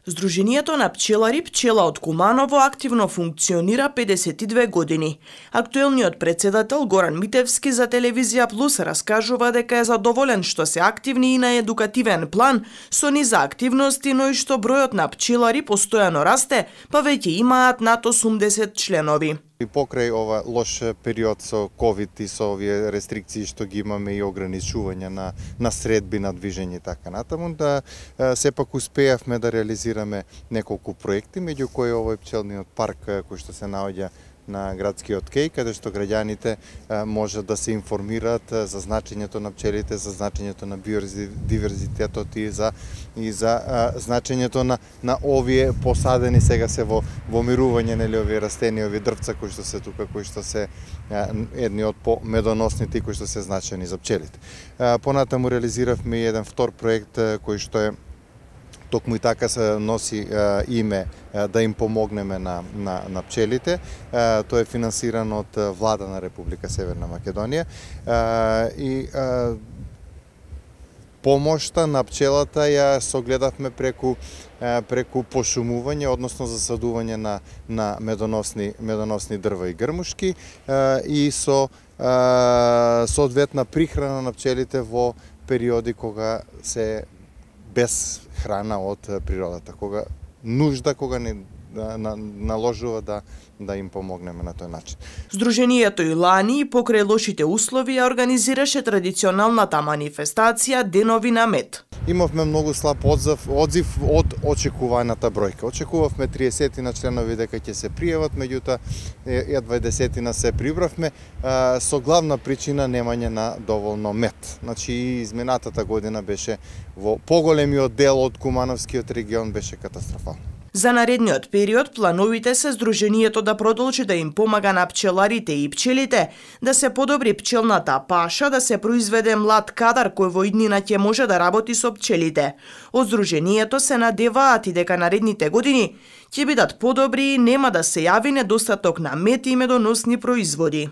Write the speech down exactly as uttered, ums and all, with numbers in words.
Здруженијето на пчелари Пчела од Куманово активно функционира педесет и две години. Актуелниот председател Горан Митевски за Телевизија Плюс раскажува дека е задоволен што се активни и на едукативен план со низа активности, но и што бројот на пчелари постојано расте, па веќе имаат над осумдесет членови. И покрај ова лош период со ковид и со овие рестрикции што ги имаме и ограничување на на средби на движење и така натаму, да сепак успеавме да реализираме неколку проекти, меѓу кои овој пчелниот парк кој што се наоѓа на градскиот кеј, каде што граѓаните може да се информираат за значењето на пчелите, за значењето на биодиверзитетот и за и за а, значењето на на овие посадени сега се во во мирување, нели, овие растени, овие дрвца кои што се тука, кои што се а, едни од помедоносните кои што се значени за пчелите. А, понатаму реализиравме еден втор проект кој што е токму и така се носи а, име а, да им помогнеме на, на, на пчелите. А, тоа е финансирано од Влада на Република Северна Македонија. А, и а, помошта на пчелата ја согледавме преку а, преку пошумување, односно засадување на на медоносни медоносни дрва и грмушки а, и со а, соодветна прихрана на пчелите во периоди кога се без храна од природата, кога нужда, кога не на, наложува да да им помогнеме на тој начин. Здруженијето и лани покрај лошите услови ја организираше традиционалната манифестација Денови на мед. Имавме многу слаб одзив, одзив од очекуваната бројка. Очекувавме триесет на членови дека ќе се пријават, меѓутоа едва дваесет се прибравме, со главна причина немање на доволно мед. Значи изминатата година беше во поголемиот дел од Кумановскиот регион беше катастрофално. За наредниот период плановите се Здруженијето да продолжи да им помага на пчеларите и пчелите, да се подобри пчелната паша, да се произведе млад кадар кој во иднина ќе може да работи со пчелите. Од Здруженијето се надеваат и дека наредните години ќе бидат подобри и нема да се јави недостаток на мед и медоносни производи.